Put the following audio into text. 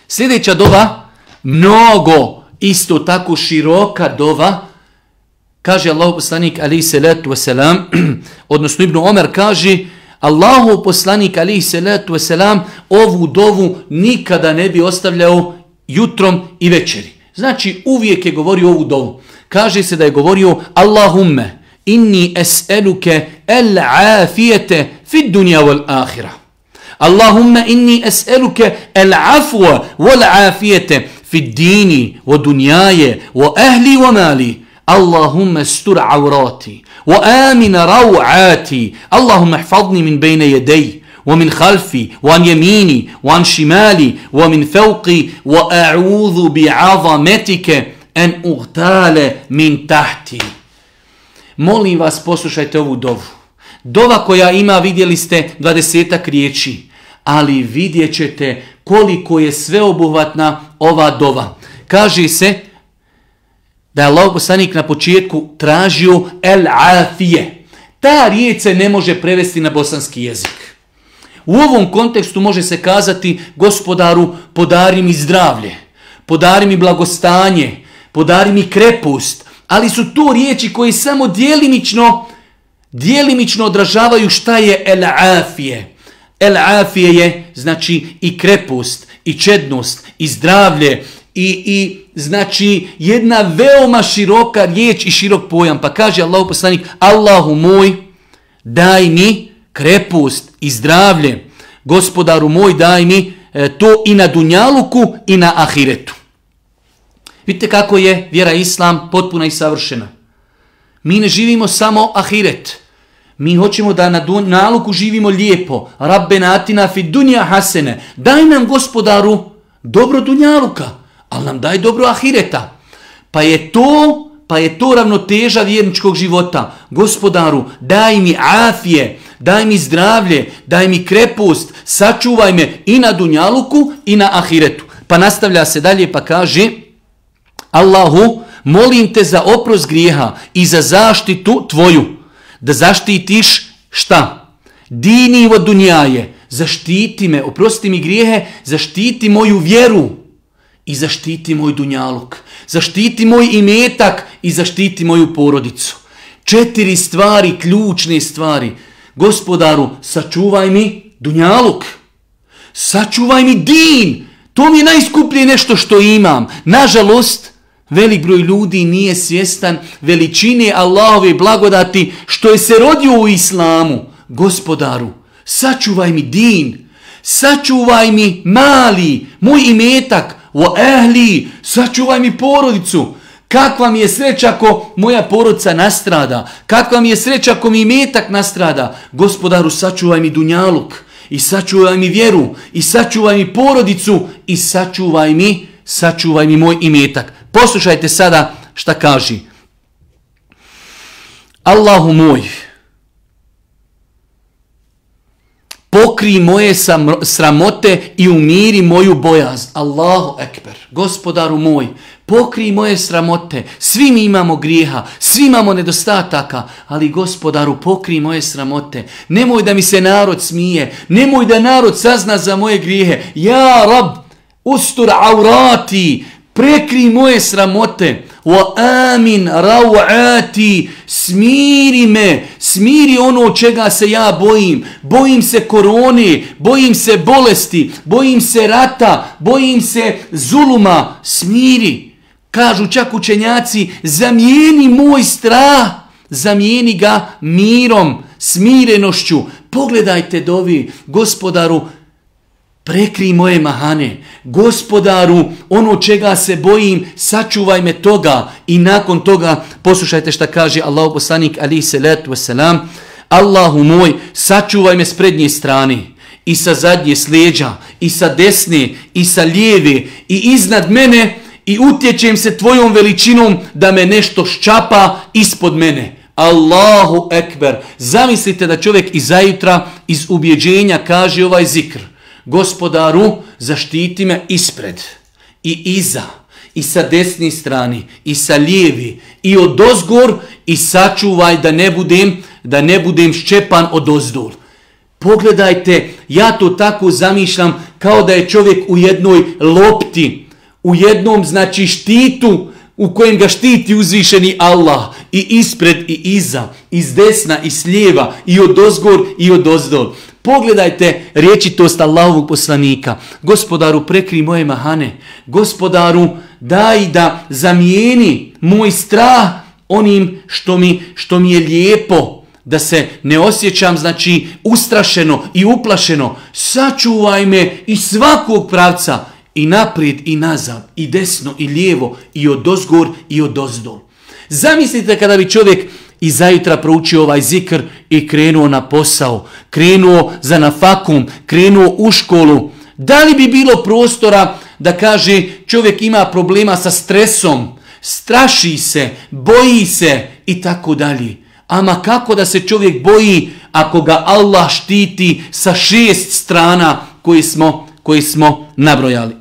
Sljedeća dova, mnogo isto tako široka dova, kaže Allahu poslanik alejhi salatu vesselam, odnosno Ibn Omer kaže, Allahu poslanik alejhi salatu vesselam ovu dovu nikada ne bi ostavljao jutrom i večeri. Znači uvijek je govorio ovu dovu. Kaže se da je govorio Allahumme inni es'eluke al-afiyete fid dunya wal akhirah. Allahumma inni es'eluke al-afwa wal afiyete fid dini wa dunyaye wa ahli wa mali. Allahumma astur awrati wa amin raw'ati. Allahumma ihfazni min bayna yaday wa min khalfi wa an yamini wa an shimali wa min fawqi wa a'udhu bi'azamatika an ughtala min tahti. Molim vas, poslušajte ovu dovu. Dova koja ima, vidjeli ste, 20 riječi, ali vidjet ćete koliko je sveobuhvatna ova dova. Kaže se da je Allahov poslanik na početku tražio el-afije. Ta riječ se ne može prevesti na bosanski jezik. U ovom kontekstu može se kazati Gospodaru, podari mi zdravlje, podari mi blagostanje, podari mi krepost, ali su to riječi koje samo djelimično odražavaju šta je el-afije. El-afije je znači i krepost, i čednost, i zdravlje, i znači jedna veoma široka riječ i širok pojam. Pa kaže Allahu poslanik, Allahu moj, daj mi krepost i zdravlje. Gospodaru moj, daj mi to i na dunjaluku i na ahiretu. Vidite kako je vjera Islam potpuna i savršena. Mi ne živimo samo ahiret. Mi hoćemo da na dunjaluku živimo lijepo. Rabbena atina fid dunya hasene. Daj nam, Gospodaru, dobro dunjaluka, ali nam daj dobro ahireta. Pa je to ravnoteža vjerničkog života. Gospodaru, daj mi afije, daj mi zdravlje, daj mi krepost, sačuvaj me i na dunjaluku i na ahiretu. Pa nastavlja se dalje pa kaže, Allahu, molim te za oprost grijeha i za zaštitu tvoju. Da zaštitiš šta? Dini vo dunjaje. Zaštiti me, oprosti mi grijehe, zaštiti moju vjeru i zaštiti moj dunjaluk. Zaštiti moj imetak i zaštiti moju porodicu. 4 stvari, ključne stvari. Gospodaru, sačuvaj mi dunjaluk. Sačuvaj mi din. To mi je najskuplje nešto što imam. Nažalost, velik broj ljudi nije svjestan veličine Allahove blagodati što je se rodio u islamu. Gospodaru, sačuvaj mi din, sačuvaj mi mali, moj imetak, o ehli, sačuvaj mi porodicu. Kakva mi je sreća ako moja porodica nastrada, kakva mi je sreća ako mi imetak nastrada. Gospodaru, sačuvaj mi dunjaluk i sačuvaj mi vjeru i sačuvaj mi porodicu i sačuvaj mi moj imetak. Poslušajte sada šta kaže. Allahu moj, pokri moje sramote i umiri moju bojaz. Allahu ekber. Gospodaru moj, pokri moje sramote. Svi mi imamo grijeha, svi imamo nedostataka, ali Gospodaru, pokri moje sramote. Nemoj da mi se narod smije, nemoj da narod sazna za moje grijehe. Ja Rab, ustur aurati, prekri moje sramote. Wa amin rawati, smiri me, smiri ono čega se ja bojim. Bojim se korone, bojim se bolesti, bojim se rata, bojim se zuluma. Smiri. Kažu čak učenjaci, zamijeni moj strah, zamijeni ga mirom, smirenošću. Pogledajte dovi, Gospodaru, prekri moje mahane. Gospodaru, ono čega se bojim, sačuvaj me toga. I nakon toga, poslušajte šta kaže Allahu poslanik alejhi salatu vesselam, Allahu moj, sačuvaj me s prednje strane, i sa zadnje s leđa, i sa desne, i sa lijeve, i iznad mene, i utječem se tvojom veličinom da me nešto ščapa ispod mene. Allahu ekber. Zamislite da čovjek izajutra iz ubjeđenja kaže ovaj zikr. Gospodaru, zaštiti me ispred i iza i sa desne strane i sa lijevi i odozgor i sačuvaj da ne budem ščepan odozdol. Pogledajte, ja to tako zamišljam kao da je čovjek u jednoj lopti, u jednom znači štitu u kojem ga štiti uzvišeni Allah i ispred i iza, iz desna i s lijeva i od ozgor i od ozdol. Pogledajte riječitost Allahovog poslanika. Gospodaru, prekri moje mahane. Gospodaru, daj da zamijeni moj strah onim što mi je lijepo. Da se ne osjećam, znači, ustrašeno i uplašeno. Sačuvaj me iz svakog pravca. I naprijed i nazad, i desno i lijevo, i od ozgor i od ozdol. Zamislite kada bi čovjek i zajutra proučio ovaj zikr i krenuo na posao, krenuo za nafakum, krenuo u školu. Da li bi bilo prostora da kaže čovjek ima problema sa stresom, straši se, boji se i tako dalje. Ama kako da se čovjek boji ako ga Allah štiti sa 6 strana koji smo nabrojali.